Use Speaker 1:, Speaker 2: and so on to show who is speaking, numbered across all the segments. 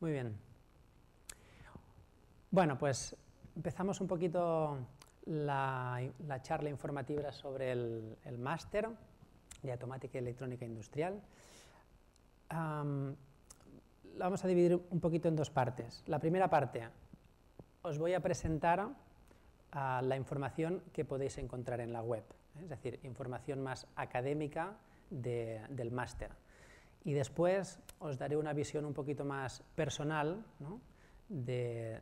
Speaker 1: Muy bien. Bueno, pues empezamos un poquito la charla informativa sobre el máster de Automática y Electrónica Industrial. La vamos a dividir un poquito en dos partes. La primera parte, os voy a presentar la información que podéis encontrar en la web, es decir, información más académica del máster. Y después os daré una visión un poquito más personal, ¿no?, de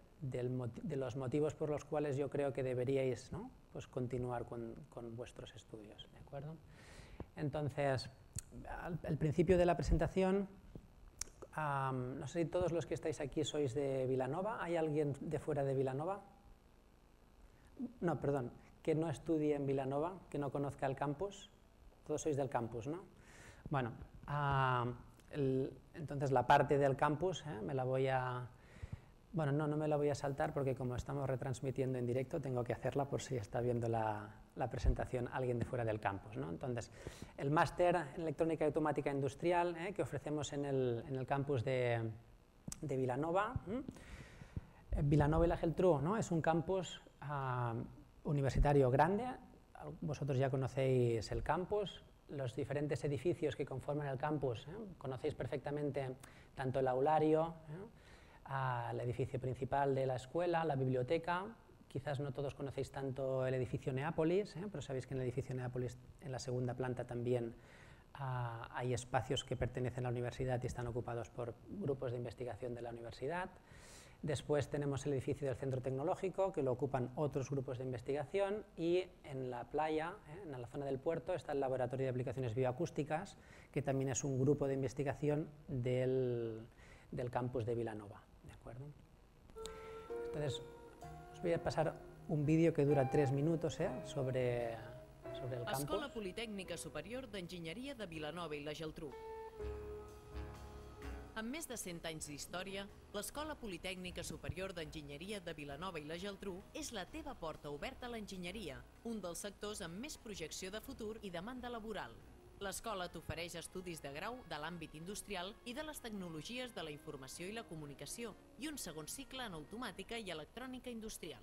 Speaker 1: los motivos por los cuales yo creo que deberíais, ¿no?, pues continuar con vuestros estudios, ¿de acuerdo? Entonces, al principio de la presentación, no sé si todos los que estáis aquí sois de Vilanova. ¿Hay alguien de fuera de Vilanova? No, perdón, que no estudie en Vilanova, que no conozca el campus. Todos sois del campus, ¿no? Bueno, entonces la parte del campus me la voy a... Bueno, no me la voy a saltar porque como estamos retransmitiendo en directo tengo que hacerla por si está viendo la presentación alguien de fuera del campus, ¿no? Entonces, el máster en Electrónica y Automática Industrial que ofrecemos en el campus de Vilanova. Vilanova i la Geltrú, ¿no?, es un campus universitario grande. Vosotros ya conocéis el campus, los diferentes edificios que conforman el campus, conocéis perfectamente tanto el aulario, el edificio principal de la escuela, la biblioteca. Quizás no todos conocéis tanto el edificio Neápolis, pero sabéis que en el edificio Neápolis, en la segunda planta, también hay espacios que pertenecen a la universidad y están ocupados por grupos de investigación de la universidad. Después tenemos el edificio del Centro Tecnológico, que lo ocupan otros grupos de investigación, y en la playa, en la zona del puerto, está el Laboratorio de Aplicaciones Bioacústicas, que también es un grupo de investigación del campus de Vilanova, ¿de acuerdo? Entonces, os voy a pasar un vídeo que dura 3 minutos sobre el campus.
Speaker 2: Escola Politècnica Superior d'Enginyeria de Vilanova i la Geltrú. Amb més de 100 anys d'història, l'Escola Politècnica Superior d'Enginyeria de Vilanova i la Geltrú és la teva porta oberta a l'enginyeria, un dels sectors amb més projecció de futur i demanda laboral. L'escola t'ofereix estudis de grau de l'àmbit industrial i de les tecnologies de la informació i la comunicació i un segon cicle en automàtica i electrònica industrial.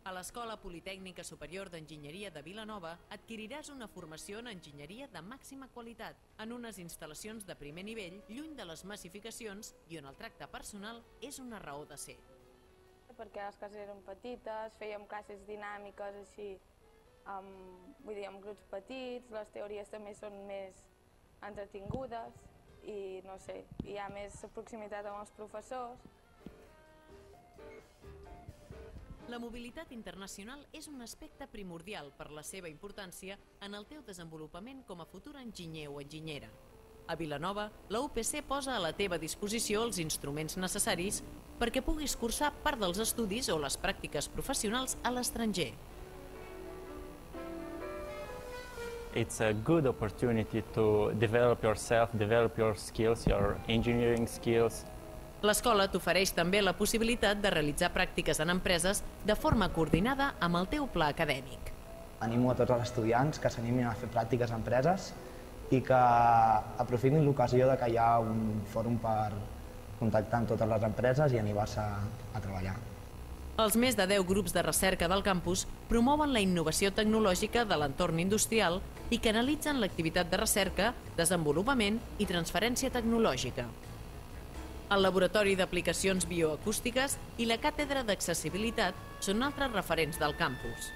Speaker 2: A l'Escola Politècnica Superior d'Enginyeria de Vilanova adquiriràs una formació en enginyeria de màxima qualitat, en unes instal·lacions de primer nivell, lluny de les massificacions i on el tracte personal és una raó de ser.
Speaker 3: Perquè les classes eren petites, fèiem classes dinàmiques així, vull dir, amb grups petits, les teories també són més entretingudes i no sé, hi ha més proximitat amb els professors.
Speaker 2: La mobilitat internacional és un aspecte primordial per la seva importància en el teu desenvolupament com a futur enginyer o enginyera. A Vilanova, la UPC posa a la teva disposició els instruments necessaris perquè puguis cursar part dels estudis o les pràctiques professionals a l'estranger.
Speaker 4: It's a good opportunity to develop yourself, develop your skills, your engineering skills.
Speaker 2: L'escola t'ofereix també la possibilitat de realitzar pràctiques en empreses de forma coordinada amb el teu pla acadèmic.
Speaker 5: Animo a tots els estudiants que s'animin a fer pràctiques a empreses i que aprofitin l'ocasió que hi ha un fòrum per contactar amb totes les empreses i animar-se a treballar.
Speaker 2: Els més de 10 grups de recerca del campus promouen la innovació tecnològica de l'entorn industrial i canalitzen l'activitat de recerca, desenvolupament i transferència tecnològica. El Laboratori d'Aplicacions Bioacústiques i la Càtedra d'Accessibilitat són altres referents del campus.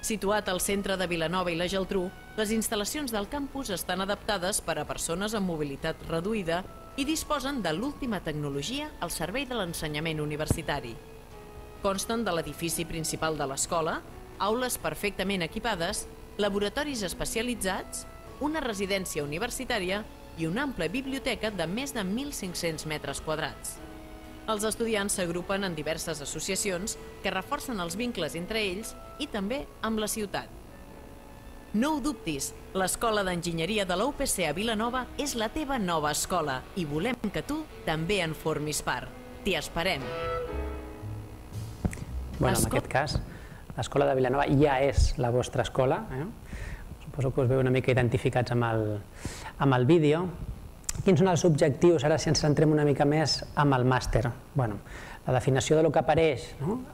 Speaker 2: Situat al centre de Vilanova i la Geltrú, les instal·lacions del campus estan adaptades per a persones amb mobilitat reduïda i disposen de l'última tecnologia al servei de l'ensenyament universitari. Consten de l'edifici principal de l'escola, aules perfectament equipades, laboratoris especialitzats, una residència universitària i una àmplia biblioteca de més de 1.500 metres quadrats. Els estudiants s'agrupen en diverses associacions que reforcen els vincles entre ells i també amb la ciutat. No ho dubtis, l'Escola d'Enginyeria de la UPC a Vilanova és la teva nova escola i volem que tu també en formis part. T'hi esperem!
Speaker 1: Bueno, en aquest cas, l'Escola de Vilanova ja és la vostra escola. Suposo que us veu una mica identificats amb el vídeo. Quins són els objectius, ara si ens centrem una mica més amb el màster? La definició del que apareix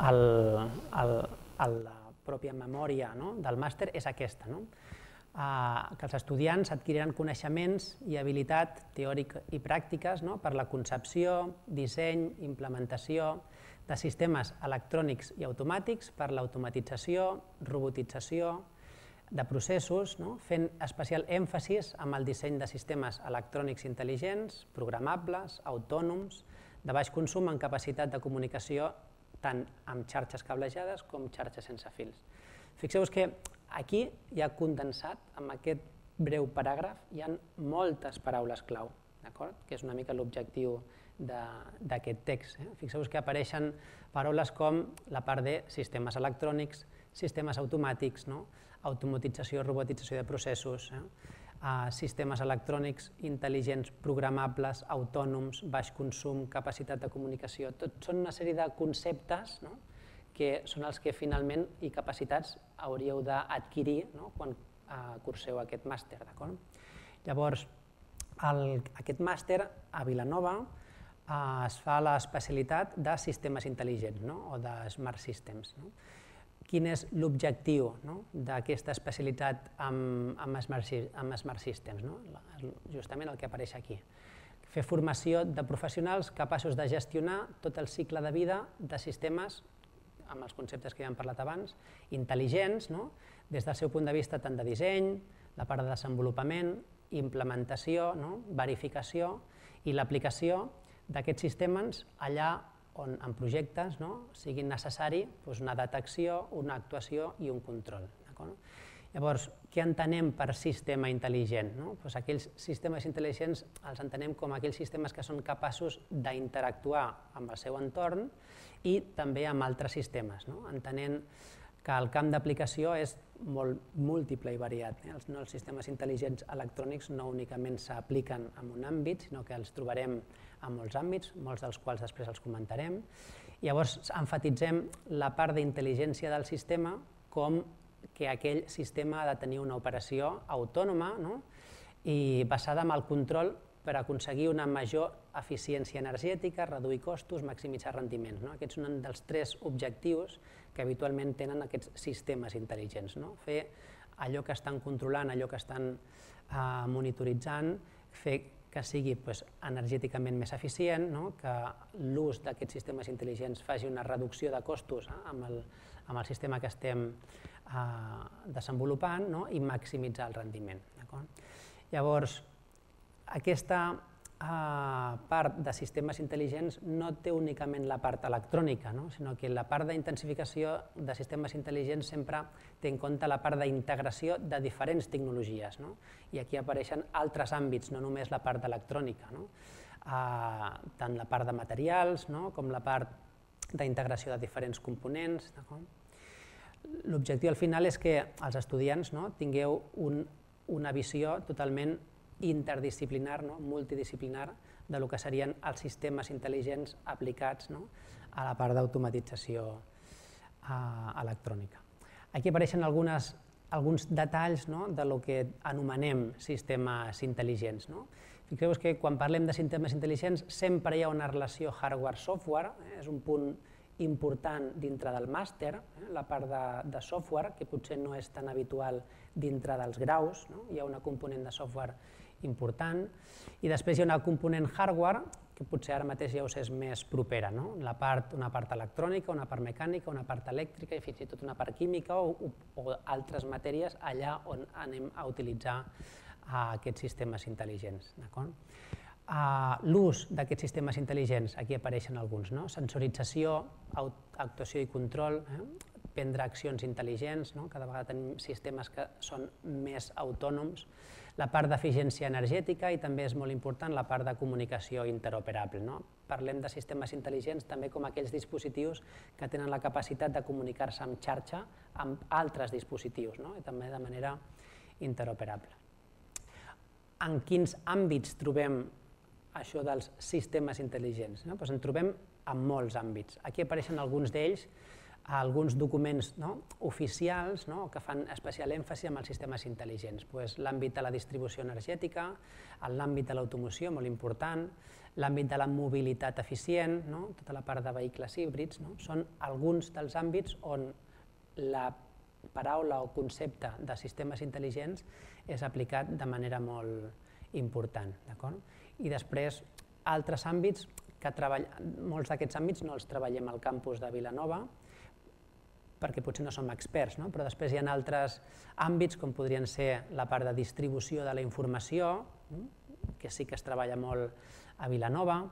Speaker 1: a la pròpia memòria del màster és aquesta, que els estudiants adquiriran coneixements i habilitat teòrica i pràctiques per la concepció, disseny, implementació de sistemes electrònics i automàtics per l'automatització, robotització de processos, fent especial èmfasis en el disseny de sistemes electrònics intel·ligents, programables, autònoms, de baix consum en capacitat de comunicació tant amb xarxes cablejades com xarxes sense fils. Fixeu-vos que aquí hi ha condensat, amb aquest breu paràgraf, hi ha moltes paraules clau, que és una mica l'objectiu d'aquest text. Fixeu-vos que apareixen paraules com la part de sistemes electrònics, sistemes automàtics, automatització, robotització de processos, sistemes electrònics intel·ligents, programables, autònoms, baix consum, capacitat de comunicació. Tot són una sèrie de conceptes que són els que finalment i capacitats hauríeu d'adquirir quan curseu aquest màster. Llavors, aquest màster a Vilanova es fa l'especialitat de sistemes intel·ligents o de Smart Systems. Quin és l'objectiu d'aquesta especialitat amb Smart Systems? Justament el que apareix aquí. Fer formació de professionals capaços de gestionar tot el cicle de vida de sistemes, amb els conceptes que ja hem parlat abans, intel·ligents, des del seu punt de vista tant de disseny, la part de desenvolupament, implementació, verificació i l'aplicació d'aquests sistemes allà on en projectes sigui necessari una detecció, una actuació i un control. Llavors, què entenem per sistema intel·ligent? Aquells sistemes intel·ligents els entenem com aquells sistemes que són capaços d'interactuar amb el seu entorn i també amb altres sistemes, entenent que el camp d'aplicació és molt múltiple i variat. Els sistemes intel·ligents electrònics no únicament s'apliquen en un àmbit, sinó que els trobarem en molts àmbits, molts dels quals després els comentarem. Llavors, emfatitzem la part d'intel·ligència del sistema com que aquell sistema ha de tenir una operació autònoma i basada en el control per aconseguir una major eficiència energètica, reduir costos, maximitzar rendiments. Aquests són un dels 3 objectius que habitualment tenen aquests sistemes intel·ligents. Fer allò que estan controlant, allò que estan monitoritzant, fer que sigui energèticament més eficient, que l'ús d'aquests sistemes intel·ligents faci una reducció de costos amb el sistema que estem desenvolupant i maximitzar el rendiment. Llavors, aquesta part de sistemes intel·ligents no té únicament la part electrònica, sinó que la part d'intensificació de sistemes intel·ligents sempre té en compte la part d'integració de diferents tecnologies. I aquí apareixen altres àmbits, no només la part d'electrònica, tant la part de materials com la part d'integració de diferents components. L'objectiu al final és que els estudiants tingueu una visió totalment interdisciplinar, multidisciplinar, del que serien els sistemes intel·ligents aplicats a la part d'automatització electrònica. Aquí apareixen alguns detalls del que anomenem sistemes intel·ligents. Fixeu-vos que quan parlem de sistemes intel·ligents sempre hi ha una relació hardware-software, és un punt important dintre del màster, la part de software, que potser no és tan habitual dintre dels graus, hi ha una component de software important, i després hi ha una component hardware, que potser ara mateix ja us és més propera, una part electrònica, una part mecànica, una part elèctrica i fins i tot una part química o altres matèries allà on anem a utilitzar aquests sistemes intel·ligents. L'ús d'aquests sistemes intel·ligents, aquí apareixen alguns, sensorització, actuació i control, prendre accions intel·ligents, cada vegada tenim sistemes que són més autònoms, la part d'eficiència energètica i també és molt important la part de comunicació interoperable. Parlem de sistemes intel·ligents també com aquells dispositius que tenen la capacitat de comunicar-se en xarxa amb altres dispositius i també de manera interoperable. En quins àmbits trobem això dels sistemes intel·ligents? En trobem en molts àmbits. Aquí apareixen alguns d'ells alguns documents oficials que fan especial èmfasi en els sistemes intel·ligents. L'àmbit de la distribució energètica, l'àmbit de l'automoció, molt important, l'àmbit de la mobilitat eficient, tota la part de vehicles híbrids, són alguns dels àmbits on la paraula o concepte de sistemes intel·ligents és aplicat de manera molt important. I després, altres àmbits, molts d'aquests àmbits no els treballem al campus de Vilanova, perquè potser no som experts, però després hi ha altres àmbits com podrien ser la part de distribució de la informació, que sí que es treballa molt a Vilanova,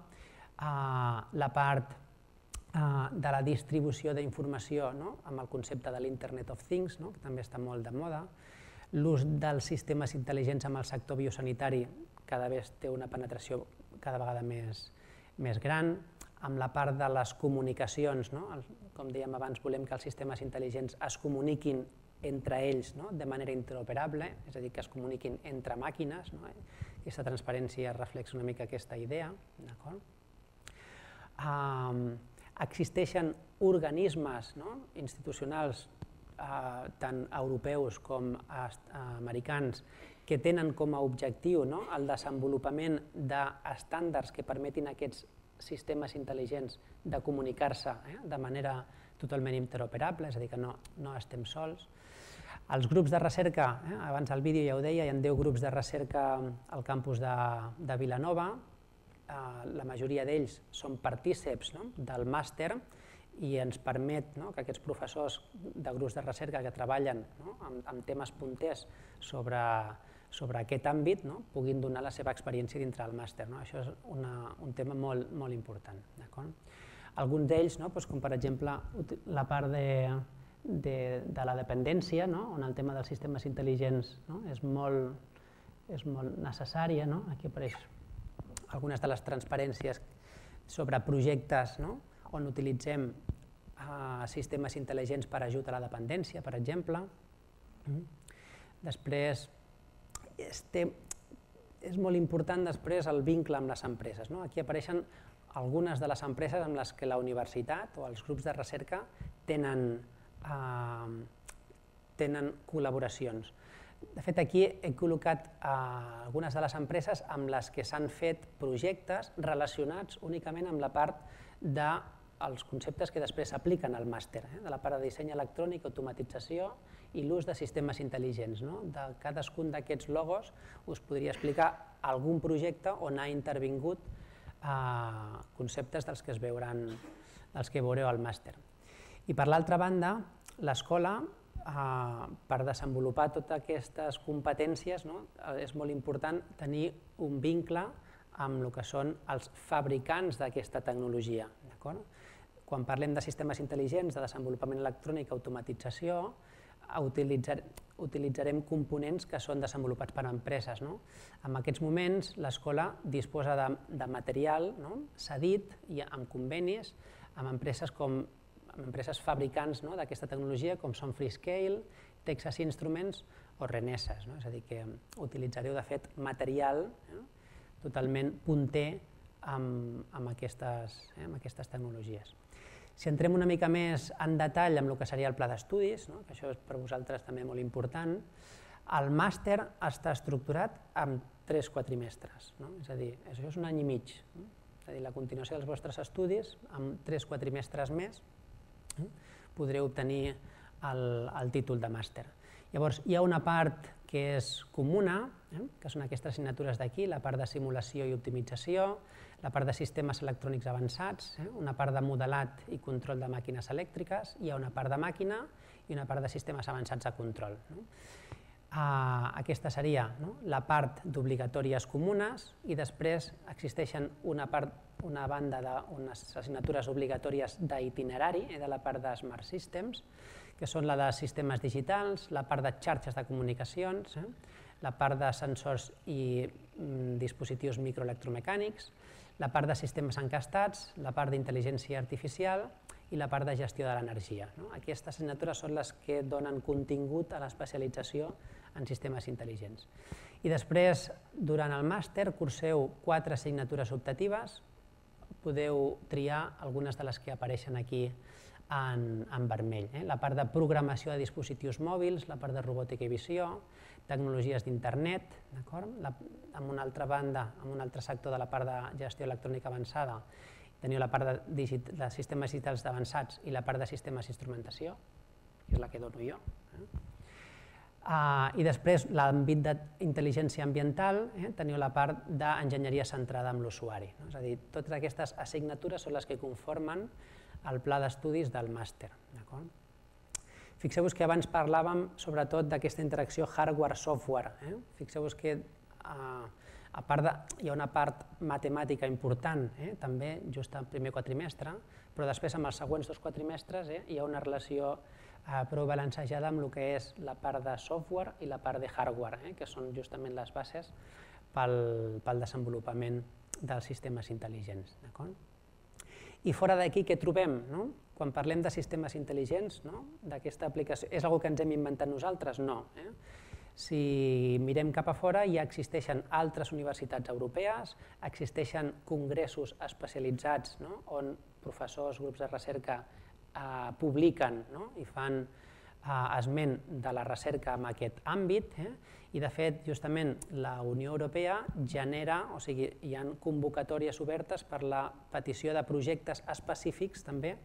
Speaker 1: la part de la distribució d'informació amb el concepte de l'Internet of Things, que també està molt de moda, l'ús dels sistemes intel·ligents amb el sector biosanitari cada vegada té una penetració cada vegada més gran, amb la part de les comunicacions, com dèiem abans, volem que els sistemes intel·ligents es comuniquin entre ells de manera interoperable, és a dir, que es comuniquin entre màquines. Aquesta transparència reflexa una mica aquesta idea. Existeixen organismes institucionals, tant europeus com americans, que tenen com a objectiu el desenvolupament d'estàndards que permetin a aquests sistemes intel·ligents de comunicar-se de manera totalment interoperable, és a dir, que no estem sols. Els grups de recerca, abans al vídeo ja ho deia, hi ha 10 grups de recerca al campus de Vilanova, la majoria d'ells són partíceps del màster i ens permet que aquests professors de grups de recerca que treballen amb temes punters sobre aquest àmbit puguin donar la seva experiència dintre del màster. Això és un tema molt important. Alguns d'ells, com per exemple la part de la dependència, on el tema dels sistemes intel·ligents és molt necessària. Aquí apareix algunes de les transparències sobre projectes on utilitzem sistemes intel·ligents per ajut a la dependència, per exemple. Després, és molt important després el vincle amb les empreses. Aquí apareixen algunes de les empreses amb les que la universitat o els grups de recerca tenen col·laboracions. De fet, aquí he col·locat algunes de les empreses amb les que s'han fet projectes relacionats únicament amb la part dels conceptes que després s'apliquen al màster, de la part de disseny electrònic, automatització i l'ús de sistemes intel·ligents. De cadascun d'aquests logos us podria explicar algun projecte on ha intervingut conceptes dels que veureu al màster. I per l'altra banda, l'escola, per desenvolupar totes aquestes competències, és molt important tenir un vincle amb el que són els fabricants d'aquesta tecnologia. Quan parlem de sistemes intel·ligents, de desenvolupament electrònic, automatització, utilitzarem components que són desenvolupats per empreses. En aquests moments, l'escola disposa de material cedit i amb convenis amb empreses fabricants d'aquesta tecnologia, com són Freescale, Texas Instruments o Renesas. És a dir, que utilitzareu, de fet, material totalment punter amb aquestes tecnologies. Si entrem una mica més en detall amb el que seria el pla d'estudis, que això és per vosaltres també molt important, el màster està estructurat en 3 quatrimestres, és a dir, això és un any i mig, és a dir, la continuació dels vostres estudis, amb 3 quatrimestres més, podreu obtenir el títol de màster. Llavors, hi ha una part que és comuna, que són aquestes assignatures d'aquí, la part de simulació i optimització, la part de sistemes electrònics avançats, una part de modelat i control de màquines elèctriques, hi ha una part de màquina i una part de sistemes avançats de control. Aquesta seria la part d'obligatòries comunes i després existeixen una banda d'unes assignatures obligatòries d'itinerari, de la part de Smart Systems, que són la de sistemes digitals, la part de xarxes de comunicacions, la part de sensors i dispositius microelectromecànics, la part de sistemes encastats, la part d'intel·ligència artificial i la part de gestió de l'energia. Aquestes assignatures són les que donen contingut a l'especialització en sistemes intel·ligents. I després, durant el màster, curseu 4 assignatures optatives, podeu triar algunes de les que apareixen aquí en vermell. La part de programació de dispositius mòbils, la part de robòtica i visió, tecnologies d'internet, amb una altra banda, amb un altre sector de la part de gestió electrònica avançada, teniu la part de sistemes digitals avançats i la part de sistemes d'instrumentació, que és la que dono jo. I després, l'àmbit d'intel·ligència ambiental, teniu la part d'enginyeria centrada en l'usuari. És a dir, totes aquestes assignatures són les que conformen el pla d'estudis del màster. Fixeu-vos que abans parlàvem sobretot d'aquesta interacció hardware-software. Fixeu-vos que a part hi ha una part matemàtica important, també just al primer quatrimestre, però després amb els següents 2 quatrimestres hi ha una relació prou balancejada amb el que és la part de software i la part de hardware, que són justament les bases pel desenvolupament dels sistemes intel·ligents. I fora d'aquí què trobem? Quan parlem de sistemes intel·ligents, d'aquesta aplicació, és una cosa que ens hem inventat nosaltres? No. Si mirem cap a fora, ja existeixen altres universitats europees, existeixen congressos especialitzats on professors, grups de recerca publiquen i fan esment de la recerca en aquest àmbit i de fet justament la Unió Europea genera, o sigui, hi ha convocatòries obertes per la petició de projectes específics també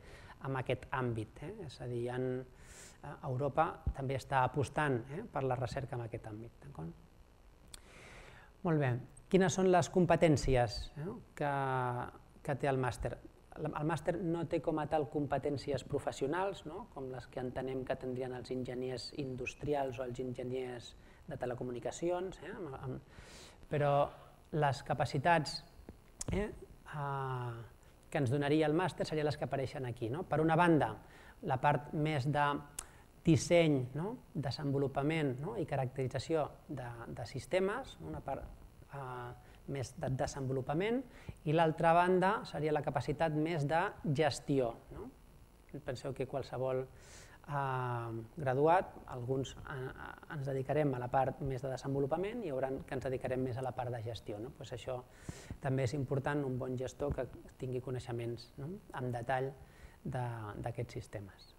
Speaker 1: en aquest àmbit, és a dir, Europa també està apostant per la recerca en aquest àmbit. Molt bé, quines són les competències que té el màster? El màster no té com a tal competències professionals, com les que entenem que tindrien els enginyers industrials o els enginyers de telecomunicacions, però les capacitats que ens donaria el màster serien les que apareixen aquí. Per una banda, la part més de disseny, desenvolupament i caracterització de sistemes, una part més de desenvolupament, i l'altra banda seria la capacitat més de gestió. Penseu que qualsevol graduat, alguns ens dedicarem a la part més de desenvolupament i hi haurà que ens dedicarem més a la part de gestió. Això també és important, un bon gestor que tingui coneixements en detall d'aquests sistemes.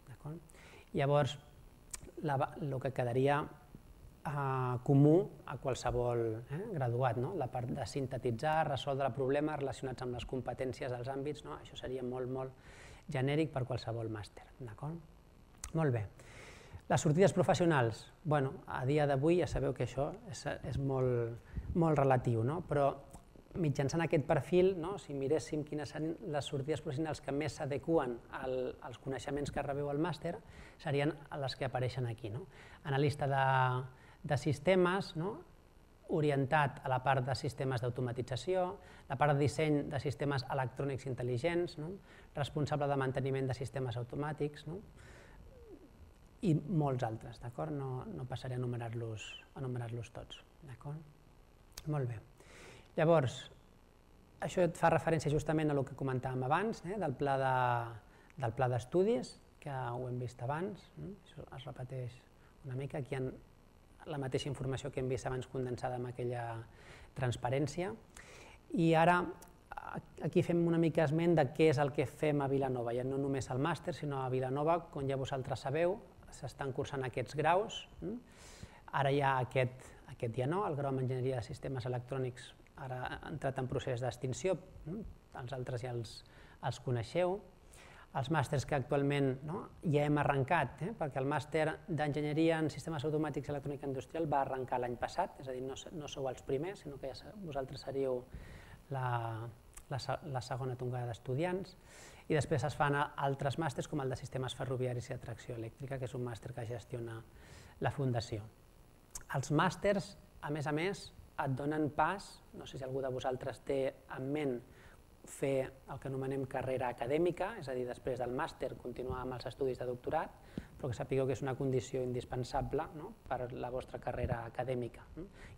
Speaker 1: Llavors, el que quedaria comú a qualsevol graduat, la part de sintetitzar, resoldre problemes relacionats amb les competències dels àmbits, això seria molt genèric per qualsevol màster. Molt bé. Les sortides professionals, a dia d'avui ja sabeu que això és molt relatiu, però mitjançant aquest perfil, si miréssim quines són les sortides professionals que més s'adequen als coneixements que rebeu al màster, serien les que apareixen aquí. Analista de sistemes, orientat a la part de sistemes d'automatització, la part de disseny de sistemes electrònics intel·ligents, responsable de manteniment de sistemes automàtics i molts altres. No passaré a enumerar-los tots. Molt bé. Llavors, això fa referència justament a el que comentàvem abans, del pla d'estudis, que ho hem vist abans, això es repeteix una mica, aquí hi ha la mateixa informació que hem vist abans condensada amb aquella transparència. I ara aquí fem una mica esment de què és el que fem a Vilanova, ja no només al màster, sinó a Vilanova, com ja vosaltres sabeu, s'estan cursant aquests graus. Ara hi ha aquest ja no, el grau en enginyeria de sistemes electrònics ara ha entrat en procés d'extinció, els altres ja els coneixeu. Els màsters que actualment ja hem arrencat, perquè el màster d'enginyeria en sistemes automàtics i electrònica industrial va arrencar l'any passat, és a dir, no sou els primers, sinó que vosaltres seríeu la segona tongada d'estudiants, i després es fan altres màsters com el de sistemes ferroviaris i de tracció elèctrica, que és un màster que gestiona la Fundació. Els màsters, a més, et donen pas, no sé si algú de vosaltres té en ment fer el que anomenem carrera acadèmica, és a dir, després del màster continuar amb els estudis de doctorat, però que sapigueu que és una condició indispensable per la vostra carrera acadèmica.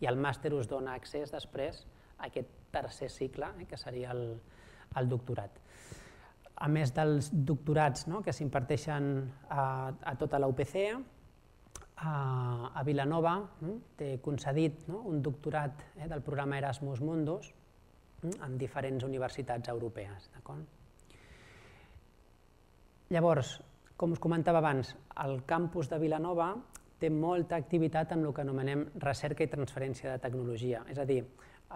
Speaker 1: I el màster us dona accés després a aquest tercer cicle, que seria el doctorat. A més dels doctorats que s'imparteixen a tota la UPC, a Vilanova té concedit un doctorat del programa Erasmus Mundus en diferents universitats europees. Llavors, Com us comentava abans, el campus de Vilanova té molta activitat en el que anomenem recerca i transferència de tecnologia. És a dir,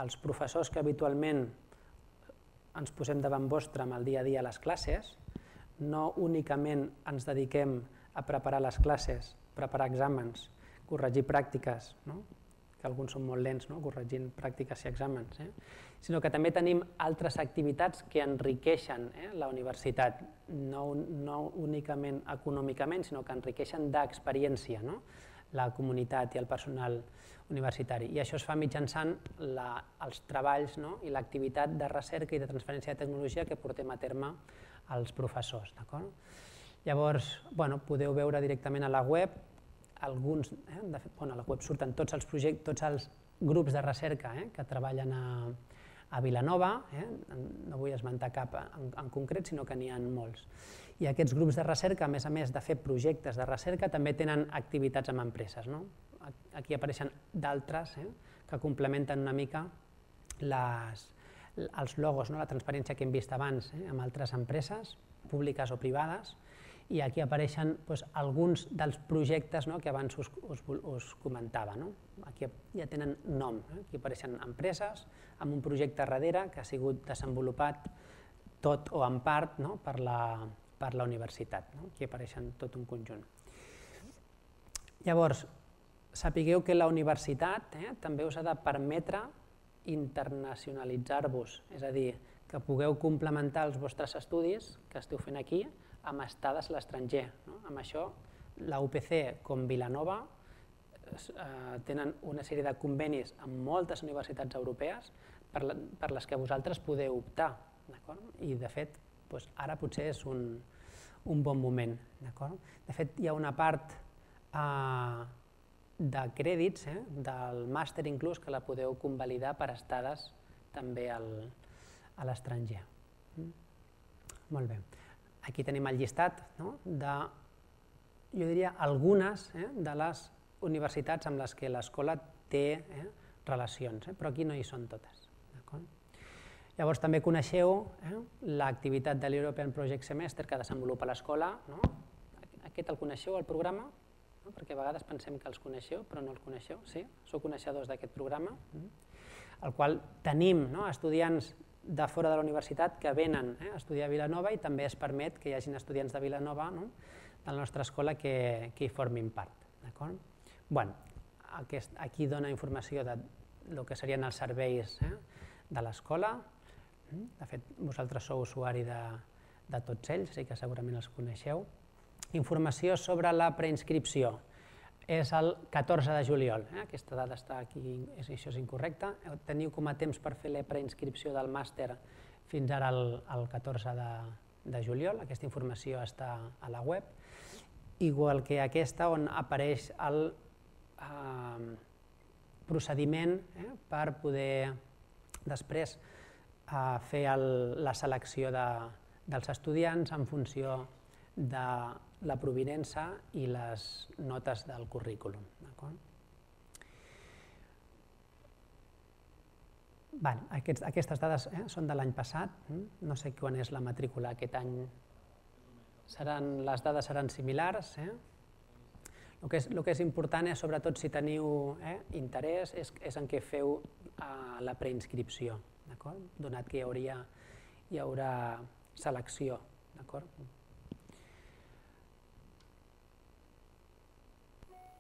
Speaker 1: els professors que habitualment ens posem davant vostre amb el dia a dia a les classes, no únicament ens dediquem a preparar les classes, preparar exàmens, corregir pràctiques, que alguns són molt lents corregint pràctiques i exàmens, sinó que també tenim altres activitats que enriqueixen la universitat, no únicament econòmicament, sinó que enriqueixen d'experiència la comunitat i el personal universitari. I això es fa mitjançant els treballs i l'activitat de recerca i de transferència de tecnologia que portem a terme als professors. Llavors, podeu veure directament a la web, de fet, a la web surten tots els projectes, tots els grups de recerca que treballen a Vilanova, no vull esmentar cap en concret, sinó que n'hi ha molts. I aquests grups de recerca, a més de fer projectes de recerca, també tenen activitats amb empreses. Aquí apareixen d'altres que complementen una mica els logos, la transparència que hem vist abans amb altres empreses, públiques o privades, i aquí apareixen alguns dels projectes que abans us comentava. Aquí ja tenen nom, aquí apareixen empreses amb un projecte darrere que ha sigut desenvolupat tot o en part per la universitat. Aquí apareixen tot un conjunt. Llavors, sapigueu que la universitat també us ha de permetre internacionalitzar-vos, és a dir, que pugueu complementar els vostres estudis que esteu fent aquí amb estades a l'estranger. Amb això, la UPC com Vilanova tenen una sèrie de convenis amb moltes universitats europees per les que vosaltres podeu optar. I, de fet, ara potser és un bon moment. De fet, hi ha una part de crèdits del màster inclús que la podeu convalidar per estades també a l'estranger. Molt bé. Aquí tenim el llistat de, jo diria, algunes de les universitats amb les que l'escola té relacions, però aquí no hi són totes. Llavors també coneixeu l'activitat de l'European Project Semester que desenvolupa l'escola. Aquest el coneixeu, el programa? Perquè a vegades pensem que els coneixeu, però no els coneixeu. Sí? Sou coneixedors d'aquest programa, el qual tenim estudiants de fora de la universitat que venen a estudiar a Vilanova i també es permet que hi hagin estudiants de Vilanova de la nostra escola que hi formin part. Aquí dona informació del que serien els serveis de l'escola. De fet, vosaltres sou usuari de tots ells, així que segurament els coneixeu. Informació sobre la preinscripció. És el 14 de juliol, aquesta data està aquí, això és incorrecte. Teniu com a temps per fer la preinscripció del màster fins ara el 14 de juliol, aquesta informació està a la web, igual que aquesta on apareix el procediment per poder després fer la selecció dels estudiants en funció de la provinença i les notes del currículum. Aquestes dades són de l'any passat, no sé quan és la matrícula aquest any, les dades seran similars. El que és important és, sobretot, si teniu interès, és en què feu la preinscripció, donat que hi haurà selecció.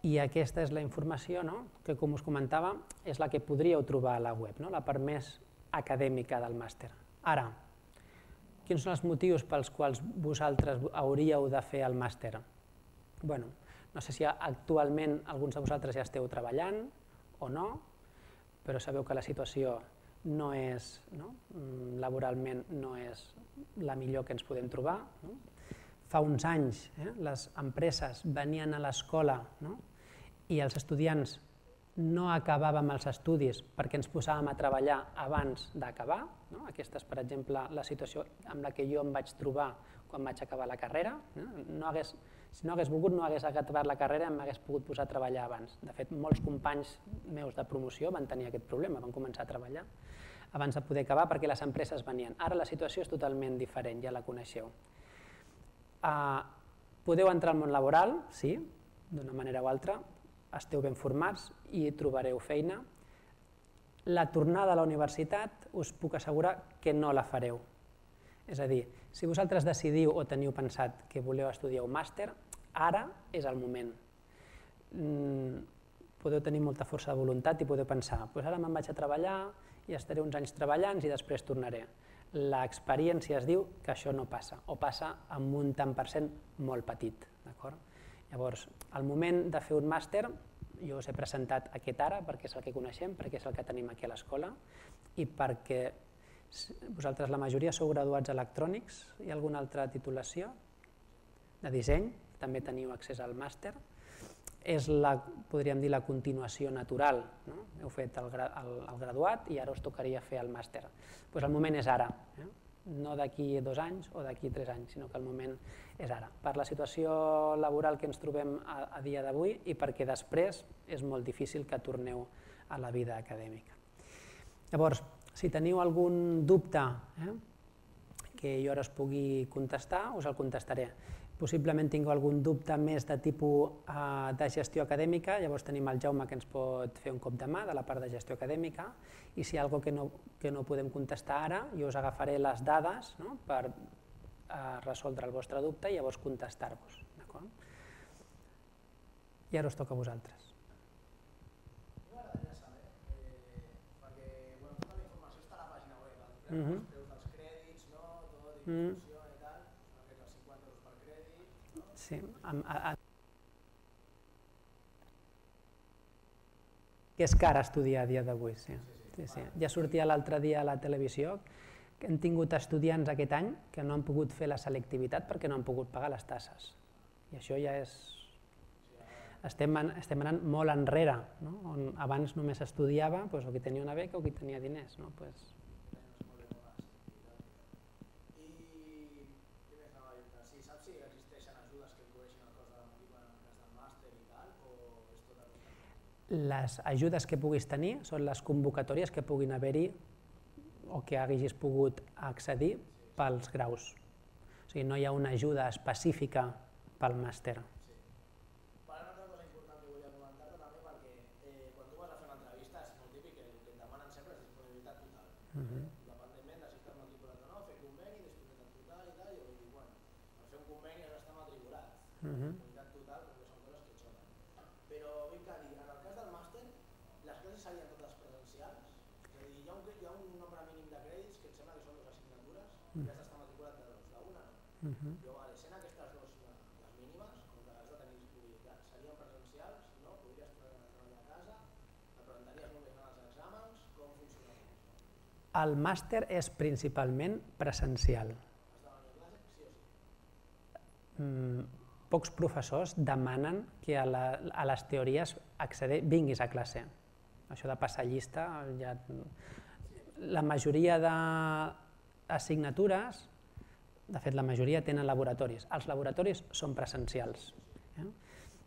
Speaker 1: I aquesta és la informació que, com us comentava, és la que podríeu trobar a la web, la part més acadèmica del màster. Ara, quins són els motius pels quals vosaltres hauríeu de fer el màster? No sé si actualment alguns de vosaltres ja esteu treballant o no, però sabeu que la situació laboralment no és la millor que ens podem trobar. Fa uns anys les empreses venien a l'escola i els estudiants no acabàvem els estudis perquè ens posàvem a treballar abans d'acabar. Aquesta és, per exemple, la situació amb la que jo em vaig trobar quan vaig acabar la carrera. Si no hagués volgut, no hagués acabat la carrera i m'hagués pogut posar a treballar abans. De fet, molts companys meus de promoció van tenir aquest problema, van començar a treballar abans de poder acabar perquè les empreses venien. Ara la situació és totalment diferent, ja la coneixeu. podeu entrar al món laboral, sí, d'una manera o altra, esteu ben formats i trobareu feina. La tornada a la universitat us puc assegurar que no la fareu. És a dir, si vosaltres decidiu o teniu pensat que voleu estudiar un màster, ara és el moment. Podeu tenir molta força de voluntat i podeu pensar, ara me'n vaig a treballar i estaré uns anys treballant i després tornaré. L'experiència es diu que això no passa, o passa amb un tant per cent molt petit. Llavors, al moment de fer un màster, jo us he presentat aquest ara perquè és el que coneixem, perquè és el que tenim aquí a l'escola i perquè vosaltres la majoria sou graduats electrònics, hi ha alguna altra titulació de disseny, també teniu accés al màster, és podríem dir la continuació natural, heu fet el graduat i ara us tocaria fer el màster. El moment és ara, no d'aquí 2 anys o d'aquí 3 anys, sinó que el moment és ara, per la situació laboral que ens trobem a dia d'avui i perquè després és molt difícil que torneu a la vida acadèmica. Llavors, si teniu algun dubte que jo ara us pugui contestar, us el contestaré. Possiblement tingueu algun dubte més de tipus de gestió acadèmica, llavors tenim el Jaume que ens pot fer un cop de mà de la part de gestió acadèmica i si hi ha alguna cosa que no podem contestar ara, jo us agafaré les dades per resoldre el vostre dubte i llavors contestar-vos. I ara us toca a vosaltres.
Speaker 6: M'agradaria saber, perquè tota la informació està a la pàgina web, els preus dels crèdits, tot, distribució i tal, els 50 euros per crèdit.
Speaker 1: Sí, que és car estudiar a dia d'avui, sí. Ja sortia l'altre dia a la televisió que hem tingut estudiants aquest any que no han pogut fer la selectivitat perquè no han pogut pagar les tasses. I això ja és... Estem anant molt enrere, on abans només estudiava o qui tenia una beca o qui tenia diners.
Speaker 6: I què més anava a dir? Saps si existeixen ajudes que cobreixin el cost de la matrícula en el cas del màster i tal, o és tot el...
Speaker 1: Les ajudes que puguis tenir són les convocatòries que puguin haver-hi o que hagis pogut accedir pels graus. O sigui, no hi ha una ajuda específica pel màster.
Speaker 6: Una altra cosa important que volia comentar-te també perquè quan tu vas a fer una entrevista és molt típic que el que et demanen sempre és disponibilitat total. Independentment de si estàs matriculat o no, fer conveni, disponibilitat total i tal, i jo dic, bueno, per fer un conveni has d'estar matriculat. Disponibilitat total perquè són coses que xoquen. Però vinc a dir, en el cas del màster, les classes serien totes presencials? És a dir, hi ha un nombre mínim de crèdits que em sembla que són 2 assignatures i has d'estar matriculat de 2, la una no. Jo, sent aquestes 2 les mínimes, com que has de tenir disponibilitat, serien presencials, no? Podries treballar a casa, et presentaries només en els exàmens, com funcionaria això?
Speaker 1: El màster és principalment presencial.
Speaker 6: Has de venir a classe, sí o sí?
Speaker 1: Pocs professors demanen que a les teories vinguis a classe. Això de passar llista, la majoria d'assignatures, de fet la majoria tenen laboratoris. Els laboratoris són presencials.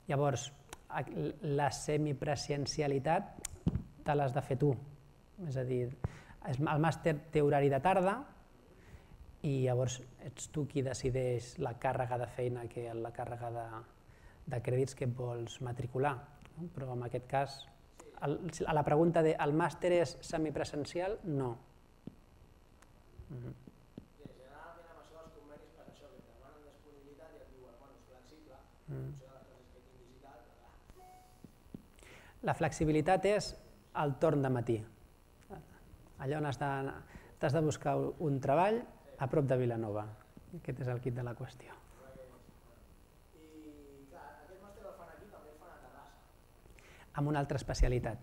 Speaker 1: Llavors, la semipresencialitat te l'has de fer tu. És a dir, el màster té horari de tarda i llavors ets tu qui decideix la càrrega de feina, la càrrega de crèdits que et vols matricular. Però en aquest cas, a la pregunta de el màster és semipresencial, no.
Speaker 6: Generalment amb això dels convenis per això, que et demanen disponibilitat i et diuen, bueno, és flexible, en funció de les classes que tinguis i tal.
Speaker 1: La flexibilitat és el torn de matí. Allà on t'has de buscar un treball a prop de Vilanova. Aquest és el quid de la qüestió.
Speaker 6: I clar, aquest màster el fan aquí, també el fan a Terrassa.
Speaker 1: Amb una altra especialitat.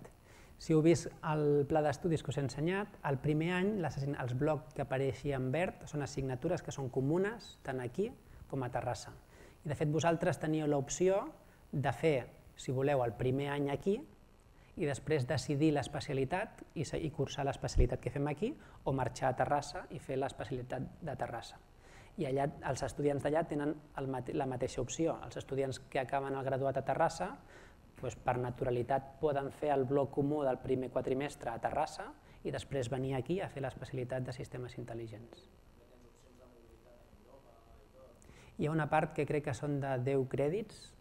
Speaker 1: Si heu vist el pla d'estudis que us he ensenyat, el primer any els blocs que apareixen en verd són assignatures que són comunes tant aquí com a Terrassa. I de fet vosaltres teníeu l'opció de fer, si voleu, el primer any aquí i després decidir l'especialitat i cursar l'especialitat que fem aquí o marxar a Terrassa i fer l'especialitat de Terrassa. I allà els estudiants d'allà tenen la mateixa opció. Els estudiants que acaben el graduat a Terrassa per naturalitat poden fer el bloc comú del primer quatrimestre a Terrassa i després venir aquí a fer l'especialitat de sistemes intel·ligents. Hi ha una part que crec que són de 10 crèdits,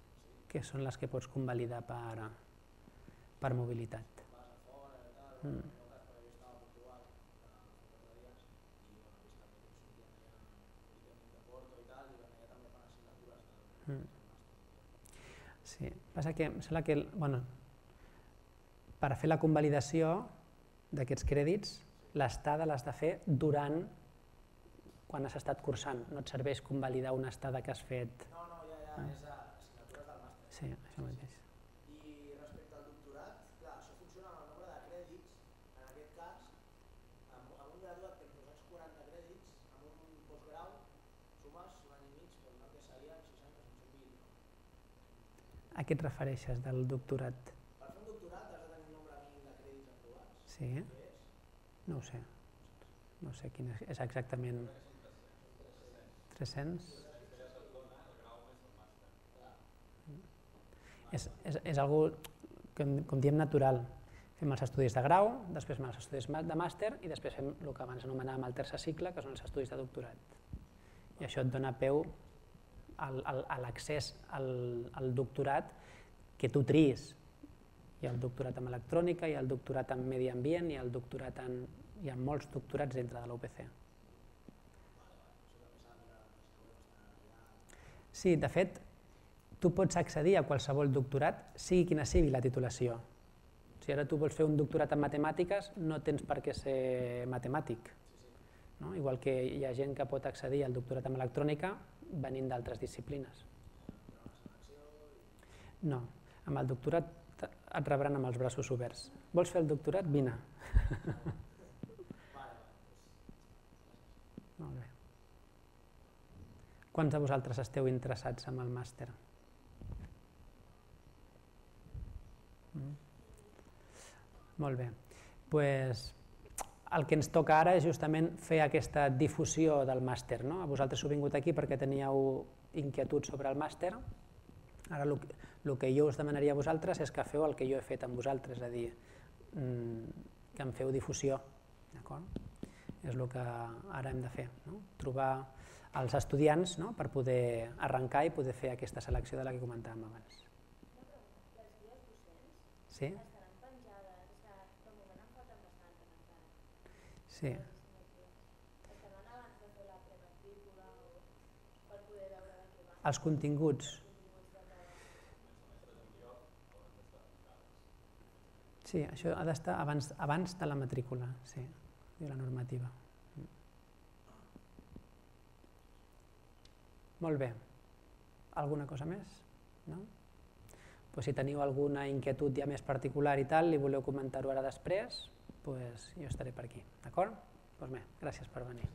Speaker 1: que són les que pots convalidar per mobilitat. Sí, passa que em sembla que per fer la convalidació d'aquests crèdits, l'estada l'has de fer durant quan has estat cursant. No et serveix convalidar una estada que has fet...
Speaker 6: No, ja, és assignatures del màster.
Speaker 1: Sí, això mateix.
Speaker 6: I respecte al doctorat, clar, això funciona amb el nombre de crèdits. En aquest cas, amb un graduat que em 240 crèdits, amb un postgrau, sumes un any i mig, per tant que serien 60 o 520.
Speaker 1: A què et refereixes del doctorat?
Speaker 6: Per fer un doctorat has de tenir un nombre mínim de crèdits aprovats.
Speaker 1: Sí?
Speaker 6: Què és?
Speaker 1: No ho sé. No sé quin és exactament... 300? És algo, com diem, natural. Fem els estudis de grau, després fem els estudis de màster i després fem el que abans anomenàvem el tercer cicle, que són els estudis de doctorat. I això et dona peu a l'accés al doctorat que tu triïs. Hi ha el doctorat en electrònica, hi ha el doctorat en medi ambient, hi ha molts doctorats dintre de la UPC. Sí, de fet, tu pots accedir a qualsevol doctorat, sigui quina sigui la titulació. Si ara tu vols fer un doctorat en matemàtiques, no tens per què ser matemàtic. Igual que hi ha gent que pot accedir al doctorat en electrònica venint d'altres disciplines. No, amb el doctorat et rebran amb els braços oberts. Vols fer el doctorat? Vine. Molt bé. Quants de vosaltres esteu interessats en el màster? Molt bé. El que ens toca ara és justament fer aquesta difusió del màster. Vosaltres heu vingut aquí perquè teníeu inquietuds sobre el màster. Ara el que jo us demanaria a vosaltres és que feu el que jo he fet amb vosaltres, és a dir, que en feu difusió. És el que ara hem de fer, trobar els estudiants per poder arrencar i poder fer aquesta selecció de la que comentàvem abans.
Speaker 7: Una pregunta, les guies docents estaran penjades, de moment en falten bastantes encara.
Speaker 1: Sí.
Speaker 7: Estaran abans de fer la prematrícula o per poder veure de què van?
Speaker 1: Els continguts. Sí, això ha d'estar abans de la matrícula, sí, de la normativa. Molt bé. Alguna cosa més? No? Si teniu alguna inquietud ja més particular i tal, i voleu comentar-ho ara després, jo estaré per aquí. D'acord? Doncs bé, gràcies per venir.